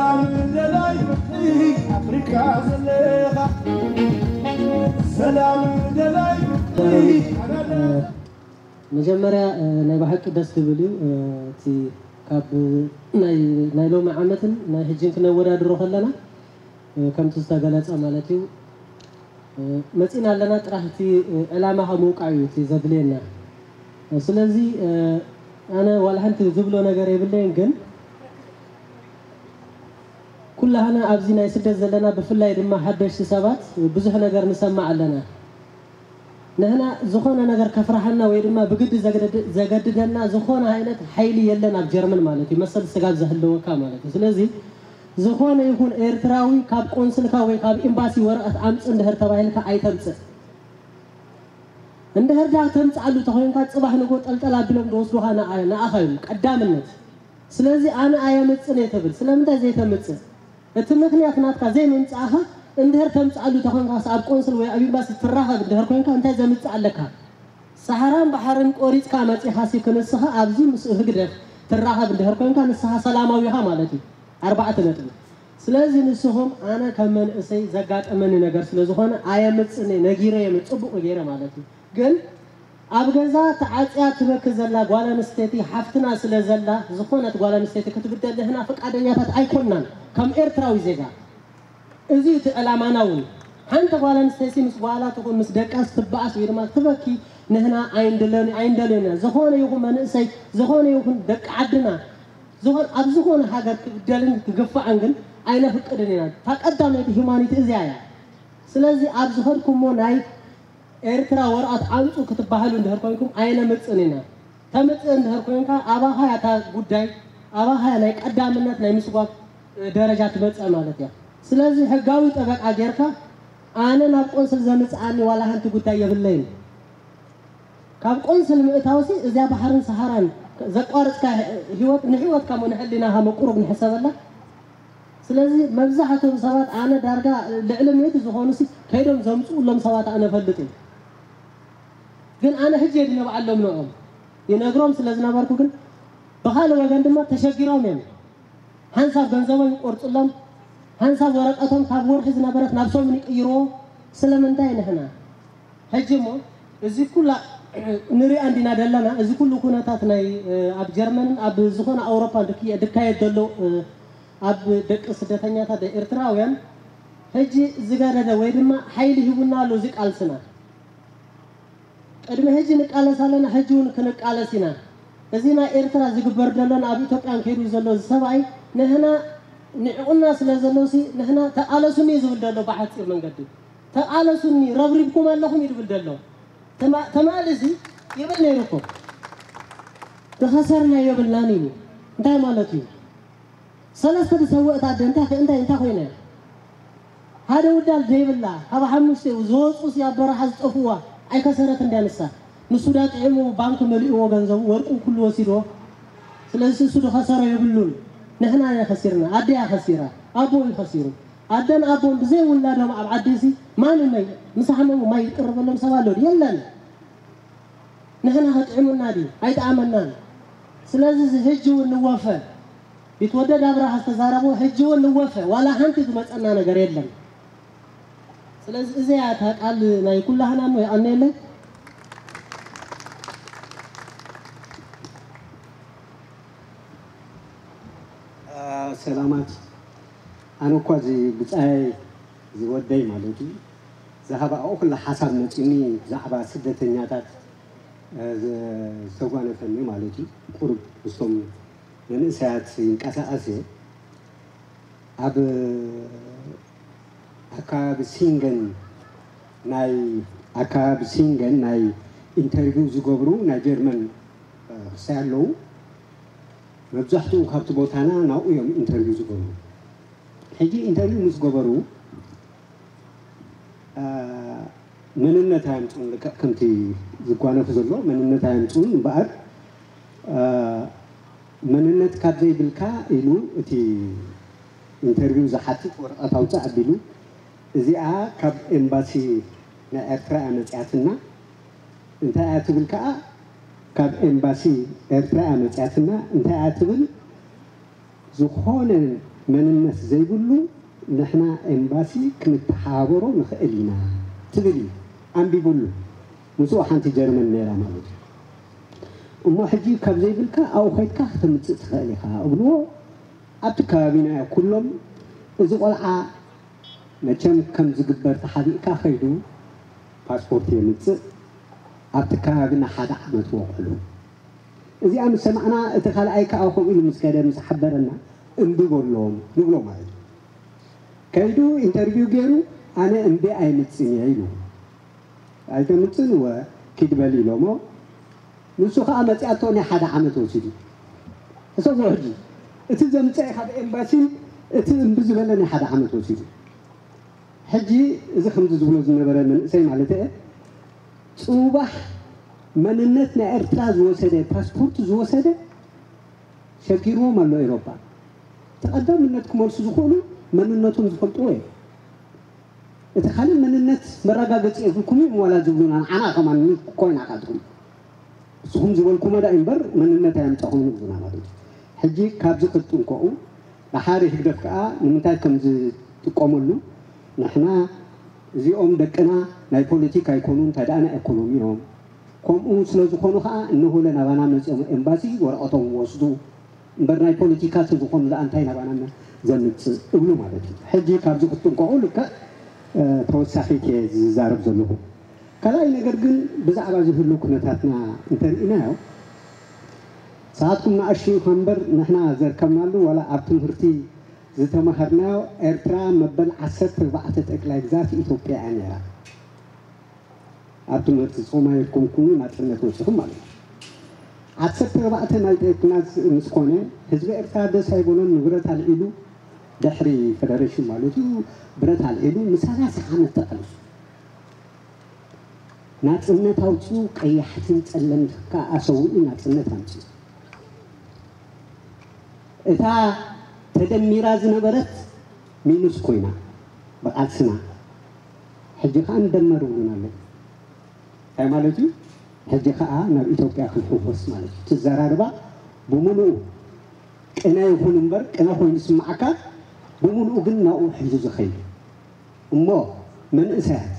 ሰላም ደላይ ፍቕሪ ኣፍሪካ ዘለኻ፣ ሰላም ደላይ ፍቕሪ ኣናና። መጀመርያ ናይ ብሓቂ ደስ ዝብል እዩ። እቲ ካብ ናይ ሎሚ ዓመትን ናይ ሕጅን ክነወዳድሮ ከለና ከምቲ ዝተገለፀ ማለት እዩ። መፂና ኣለና፣ ጥራሕ እቲ ዕላማኻ ምውቃዕ እዩ እቲ ዘድልየና። ስለዚ ኣነ ዋላ ሓንቲ ዝብሎ ነገር የብለይን፣ ግን ኩላህና ኣብዚ ናይ ስደት ዘለና፣ ብፍላይ ድማ ሓደሽቲ ሰባት ብዙሕ ነገር ንሰማዕ ኣለና። ንሕና ዝኾነ ነገር ከፍርሓና ወይ ድማ ብግዲ ዘገድደና ዝኾነ ዓይነት ሓይሊ የለን ኣብ ጀርመን ማለት እዩ፣ መሰል ስጋብ ዘህልወካ ማለት እዩ። ስለዚ ዝኾነ ይኹን ኤርትራዊ ካብ ቆንስልካ ወይ ካብ ኤምባሲ ወረቐት ኣምጽእ እንድሕር ተባሂልካ ኣይተምጽእ። እንድሕር ዳ ተምጽኣሉ ተኾይንካ ጽባሕ ንጎ ጠልጠል ኣቢሎም ዝወስዱኻ ንኣኻ እዮም ቀዳምነት። ስለዚ ኣነ ኣየምጽን እየ ተብል፣ ስለምንታይ ዘይተምጽእ? እቲ ምኽንያት ናትካ ዘይምምጻእኻ እንድሕር ተምጽኣሉ ተኾንካስ ኣብ ቆንስል ወይ ኣብ ኤምባሲ ትራኸብ እንድሕር ኮይንካ እንታይ ዘምጽእ ኣለካ? ሰሓራን ባሕርን ቆሪጽካ መጺኻሲ ክንስኻ ኣብዚ ምስ ህግደፍ ትራኸብ እንድሕር ኮይንካ ንስኻ ሰላማዊ ኢኻ ማለት እዩ። ኣርባዕተ ነጥቢ። ስለዚ ንስኹም ኣነ ከም መንእሰይ ዘጋጠመኒ ነገር ስለ ዝኾነ ኣየምጽን እየ፣ ነጊረዮም እየ ጽቡቕ ገይረ ማለት እዩ። ግን ኣብ ገዛ ተዓጽያ ትበኪ ዘላ ጓል ኣንስተይቲ ሓፍትና ስለ ዘላ ዝኾነት ጓል ኣንስተይቲ ክትብደል ንሕና ፍቃደኛታት ኣይኮናን ከም ኤርትራዊ ዜጋ። እዚ እቲ ዕላማና እውን ሓንቲ ጓል ኣንስተይቲ ምስ ጓላ ትኹን ምስ ደቃስ ትበኣስ ወይ ድማ ትበኪ ንሕና ኣይንደለዮን ኢና። ዝኾነ ይኹን መንእሰይ ዝኾነ ይኹን ደቂ ዓድና ዝኾን ኣብ ዝኾነ ሃገር ክብደልን ክግፋዕን ግን ኣይነፍቅድን ኢና። እታ ቀዳመይቲ ሂማኒቲ እዚኣ እያ። ስለዚ ኣብ ዝኸድኩሞ ናይ ኤርትራ ወረቐት ኣምጹ ክትበሃሉ እንድሕር ኮይንኩም ኣየነምጽእን ኢና። ተምጽእ እንድሕር ኮይንካ ኣባኻ እያ እታ ጉዳይ ኣባኻ እያ ናይ ቀዳምነት ናይ ምስጓግ ደረጃ ትመጽእ ማለት እያ። ስለዚ ሕጋዊ ጠበቃ ጌርካ ኣነ ናብ ቆንስል ዘምጽኣኒ ዋላ ሓንቲ ጉዳይ የብለይን። ካብ ቆንስል ምእታውሲ እዚኣ ባሕርን ሰሃራን ዘቋርጽካ ህይወት ንህይወትካ እሞ ንሕሊናኻ መቁሩብ ንሕሰበላ። ስለዚ መብዛሕትኦም ሰባት ኣነ ዳርጋ ልዕሊ ሚእቲ ዝኾኑሲ ከይዶም ዘምፅኡሎም ሰባት ኣነ እፈልጥ እየ። ግን ኣነ ሕጂ እየ ድነብዓሎም ንዕኦም ይነግሮም ስለ ዝነበርኩ ግን ብኻልእ ወገን ድማ ተሸጊሮም እዮም። ሓንሳብ ገንዘቦም ይቆርፅሎም፣ ሓንሳብ ወረቀቶም ካብ ወርሒ ዝነበረት ናብ ሰሙን ይቅይርዎ። ስለምንታይ ንሕና ሕጂ እሞ እዚ ኩላ ንሪኣ እንዲና ደለና። እዚ ኩሉ ኩነታት ናይ ኣብ ጀርመንን ኣብ ዝኾነ ኣውሮፓ ድካየድ ዘሎ ኣብ ደቂ ስደተኛታት ኤርትራውያን ሕጂ ዝገደደ ወይ ድማ ሓይሊ ሂቡና ኣሎ እዚ ቃልስና። ቅድሚ ሕጂ ንቃለስ ኣለና፣ ሕጂ እውን ክንቃለስ ኢና። እዚ ናይ ኤርትራ ዝግበር ዘሎን ኣብ ኢትዮጵያን ከይዱ ዘሎ እዚ ሰብኣይ ንሕና ንዕቑና ስለ ዘሎሲ ንሕና ተቃለሱኒ እዩ ዝብል ዘሎ ብሓፂር መንገዲ። ተቃለሱኒ ረብሪብኩም ኣለኹም እዩ ዝብል ዘሎ። ተማ- ተማልሲ ይብል ነይሩ እኮ። ዝኸሰርና የብልናን ኢሉ እንታይ ማለት እዩ? ሰለስተ ዝሰወእት ኣደ እንታይ እንታይ እንታይ ኮይና እያ? ሓደ ውዳል ዘይብላ ካብ ሓሙሽተ ዝወፁ ሲ ኣብ በረኻ ዝጠፍዋ ኣይከሰረትን ድያ ንሳ? ንሱ ዳ ጥዒሙ ባንክ መሊእዎ ገንዘቡ ወርቁ ኩሉ ወሲድዎ። ስለዚ እሱ ዝኸሰሮ የብሉን። ንሕና ኢና ከሲርና፣ ኣደያ ከሲራ፣ ኣቦ እዩ ከሲሩ። ኣደን ኣቦን ብዘይ ውላዶም ኣብ ዓዲ ሲ ማን መይ ምስ ሓመሙ ማይ ይቅርበሎም ሰብ ኣሎ ድዩ? የለን። ንሕና ከጥዕሙና ድዩ? ኣይጠዓመናን። ስለዚ እዚ ሕጂ እውን ንወፈ። ቢትወደድ ኣብርሃ ዝተዛረቦ ሕጂ እውን ንወፈ። ዋላ ሓንቲ ዝመፀና ነገር የለን። ስለዚ እዚኣ እታ ቃል ናይ ኩላህና እሞ የቐንየለይ። ሰላማት። ኣነ እኳ እዚ ብጻይ ዝወደይ ማለት እዩ ዝሃባኦ ኩላ ሓሳብ መጺኒ ብዛዕባ ስደተኛታት ዝተጓነፈኒ ማለት እዩ። ቁሩብ ምስቶም መንእሰያት ይንቀሳቐስ እየ። ኣብ ኣከባቢ ሲንገን ናይ ኣከባቢ ሲንገን ናይ ኢንተርቪው ዝገብሩ ናይ ጀርመን ክሳይ ኣለዉ። መብዛሕትኡ ካብቲ ቦታና ናብኡ እዮም ኢንተርቪው ዝገብሩ። ሕጂ ኢንተርቪው ምስ ገበሩ መንነት ኣየምፅኡን፣ ልክዕ ከምቲ ዝጓነፍ ዘሎ መንነት ኣየምፅኡን እምበኣር መንነት ካብ ዘይብልካ ኢሉ እቲ ኢንተርቪው ዝሓትት ወረቐት ኣውፅእ ኣቢሉ እዚኣ ካብ ኤምባሲ ናይ ኤርትራ እያ መፅያትና እንታይ እያ ትብል ከዓ ካብ ኤምባሲ ኤርትራ እያ መፅያትና እንታይ እያ ትብል ዝኾነ መንነት ዘይብሉ ንሕና ኤምባሲ ክንተሓባበሮ ንኽእል ኢና ትብል እዩ። ኣንቢቡሉ። ምስኡ ሓንቲ ጀርመን ነይራ ማለት እዩ። እሞ ሕጂ ካብ ዘይብልካ ኣብኡ ከይድካ ክተምፅእ ትኽእል ኢኻ እብልዎ። ኣብቲ ከባቢና ኩሎም እዚ ቆልዓ መቸም ከም ዝግበር ተሓቢእካ ከይዱ ፓስፖርት የምፅእ። ኣብቲ ከባቢና ሓደ ዓመት ወቕዕሉ። እዚኣ ምስ ሰማዕና እቲ ካልኣይ ከዓ ከምኡ ኢሉ ምስ ከደ ምስ ሓበረና እምቢ በሎም ንብሎ ማለት እዩ። ከይዱ ኢንተርቪው ገይሩ ኣነ እምቢ ኣይምፅን እየ ኢሉ። ኣይተምፅን ወ ኪድ በል ኢሎሞ። ንሱ ከዓ መፅኣቶ ናይ ሓደ ዓመት ወሲዱ። ሕሰቦ ሕጂ እቲ ዘምፀ ካብ ኤምባሲን እቲ እምቢ ዝበለ ናይ ሓደ ዓመት ወሲዱ። ሕጂ እዚ ከምዚ ዝብሎ ዝነበረ መንእሰይ ማለት እየ፣ ፅባሕ መንነት ናይ ኤርትራ ዝወሰደ ፓስፖርት ዝወሰደ ሸጊርዎም ኣሎ ኤሮፓ። እቲ ቀዳምነት ክመልሱ ዝኽእሉ መንነቶም ዝፈልጥዎ እዮም። እቲ ካልእ መንነት መረጋገፂ የብልኩም እዮም ዋላ ዝብሉና ንዓና ከማን ኮይና ካልትኩም ንስኹም ዝበልኩሞ ዳ እምበር መንነት ኣየምፀኹም ይብሉና ማለት እዩ። ሕጂ ካብዚ ክትጥንቀቑ ደሓር ህግደፍ ከዓ ንምንታይ ከም ዝጥቀመሉ ንሕና እዚኦም ደቅና ናይ ፖለቲካ ኣይኮኑ እንታይ ደኣ ናይ ኢኮኖሚ እዮም። ከምኡ ስለ ዝኾኑ ከዓ እንሆለ ናባና መፂኦም ኤምባሲ ወረቐቶም ወስዱ እምበር ናይ ፖለቲካ ተዝኾኑ ደኣ እንታይ ናባና ዘምፅእ እብሉ ማለት እዩ። ሕጂ ካብዚ ክትጥንቀቑ ልክዕ ተወሳኺት እየ ዝዛረብ ዘለኹ። ካልኣይ ነገር ግን ብዛዕባ ዝህሉ ኩነታትና እንተርኢናዮ ሰዓትኩም ንኣሽቱ ኢኻ እምበር ንሕና ዘርከብናሉ ዋላ ኣብ ትምህርቲ ዝተማሃርናዮ ኤርትራ መበል ዓሰርተ ኣርባዕተ ጠቅላይ ግዛት ኢትዮጵያ እያ ነይራ። ኣብ ትምህርቲ ጾማየኩም ኩኑ ናጽነት ወጺኹም ማለት እዩ። ዓሰርተ ኣርባዕተ ናይ ጤክናስ ምስ ኮነ ህዝቢ ኤርትራ ደስ ኣይበሎን፣ ንብረት ኣልዒሉ ድሕሪ ፈደሬሽን ማለት እዩ ብረት ኣልዒሉ ንሰላሳ ዓመት ተቃሊሱ ናጽነት ኣውጺኡ ቀያሕትን ጸለምትን ከኣ ኣሰዊኡ ናጽነት ኣምጺኡ። እታ ተደሚራ ዝነበረት ሚኑስ ኮይና ብቓልስና ሕጂ ከኣ ንደመር ይብሉና ኣለዉ። እንታይ ማለት እዩ? ሕጂ ከኣ ናብ ኢትዮጵያ ክንሕወስ ማለት እዩ። እቲ ኣዘራርባ ብምሉኡ ቅነ ይኹን እምበር ቅነ ኮይኑ ዝስምዓካ ብምሉኡ ግን ናብኡ ሒዙ ዝኸይድ እሞ መንእሰያት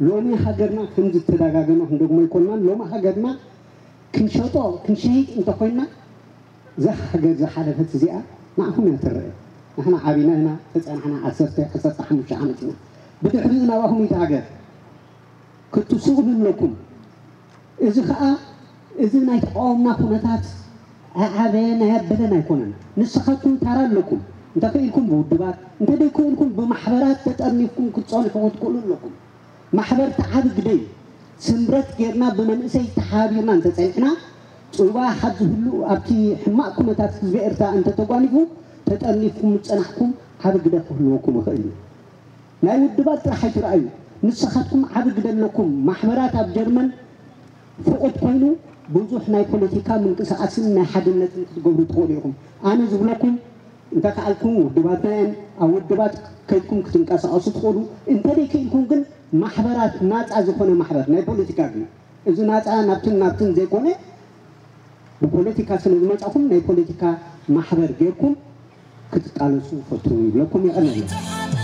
ሎሚ ሃገርና ከም ዝተደጋገመ ክንደግሞ ኣይኮንናን። ሎሚ ሃገርና ክንሸጦ ክንሸይጥ እንተኮይንና እዛ ሃገር ዝሓለፈት እዚኣ ንዓኹም እያ ትረአ። ንሕና ዓቢና ኢና ተፀናሕና ዓሰርተ ዓሰርተ ሓሙሽተ ዓመት ኢና ብድሕሪኡ ናባኹም እዩ ሃገር ክትስእሉ ኣለኩም። እዚ ከዓ እዚ ናይ ተቃወምና ኩነታት ኣዓበየን ኣየበለን ኣይኮነን። ንስኻትኩም ታራ ኣለኩም። እንተኽኢልኩም ብውድባት እንተደይክእልኩም ብማሕበራት ተጠርኒፍኩም ክትፀንሑ ክትክእሉ ኣለኩም። ማሕበር ተዓቢ ግደይ ስምረት ጌርና ብመንእሰይ ተሓባቢርና እንተፀኒሕና ፅባ ሓዚ ህሉ ኣብቲ ሕማቕ ኩነታት ህዝቢ ኤርትራ እንተተጓኒፉ ተጠርኒፍኩም ዝፀናሕኩም ዓቢ ግደ ክህልወኩም ይኽእል እዩ። ናይ ውድባት ጥራሕ ኣይትረኣዩ። ንስኻትኩም ዓቢ ግደ ኣለኩም። ማሕበራት ኣብ ጀርመን ፍቑድ ኮይኑ ብዙሕ ናይ ፖለቲካ ምንቅስቓስን ናይ ሓድነትን ክትገብሩ ትኽእሉ ኢኹም። ኣነ ዝብለኩም እንተከኣልኩም ውድባትና እየን ኣብ ውድባት ከይድኩም ክትንቀሳቐሱ ትኽእሉ። እንተደይክኢልኩም ግን ማሕበራት ናፃ ዝኾነ ማሕበር ናይ ፖለቲካ ግን እዚ ናፃ ናብትን ናብትን ዘይኮነ ብፖለቲካ ስለ ዝመፃኹም ናይ ፖለቲካ ማሕበር ጌርኩም ክትቃለሱ ፈትኑ ይብለኩም። የቐነልና።